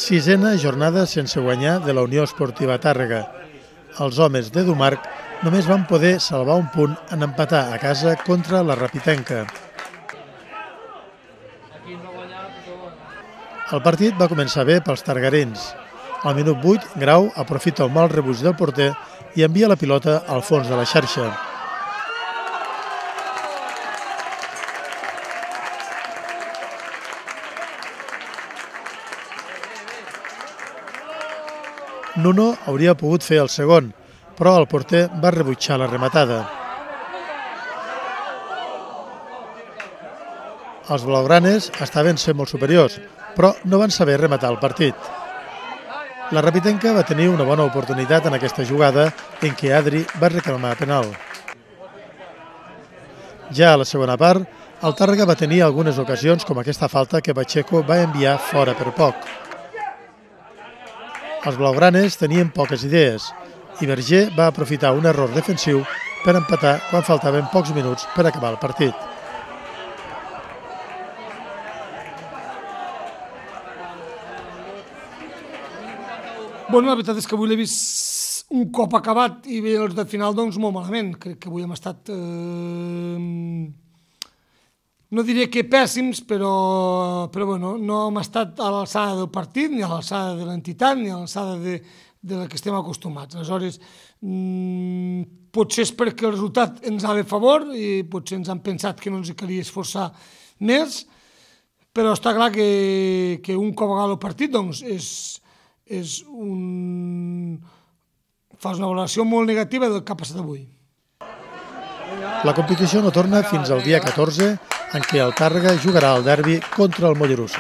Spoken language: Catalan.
Sisena jornada sense guanyar de la Unió Esportiva Tàrrega. Els homes d'Edu Marc només van poder salvar un punt en empatar a casa contra la Rapitenca. El partit va començar bé pels targarins. Al minut 8, Grau aprofita un mal rebuig del porter i envia la pilota al fons de la xarxa. Nuno hauria pogut fer el segon, però el porter va rebutjar la rematada. Els blaugranes estaven sent molt superiors, però no van saber rematar el partit. La Rapitenca va tenir una bona oportunitat en aquesta jugada en què Adri va reclamar penal. Ja a la segona part, el Tàrrega va tenir algunes ocasions com aquesta falta que Pacheco va enviar fora per poc. Els blaugranes tenien poques idees i Verger va aprofitar un error defensiu per empatar quan faltaven pocs minuts per acabar el partit. Bueno, la veritat és que avui l'he vist un cop acabat i bé els de final, doncs molt malament. Crec que avui hem estat, no diré que pèssims, però bueno, no hem estat a l'alçada del partit, ni a l'alçada de l'entitat, ni a l'alçada de la que estem acostumats. Aleshores, potser és perquè el resultat ens ha de favor i potser ens han pensat que no ens calia esforçar més, però està clar que un cop acabat el partit, doncs, fas una valoració molt negativa del que ha passat avui. La competició no torna fins al dia 14, en què el Tàrrega jugarà el derbi contra el Mollerussa.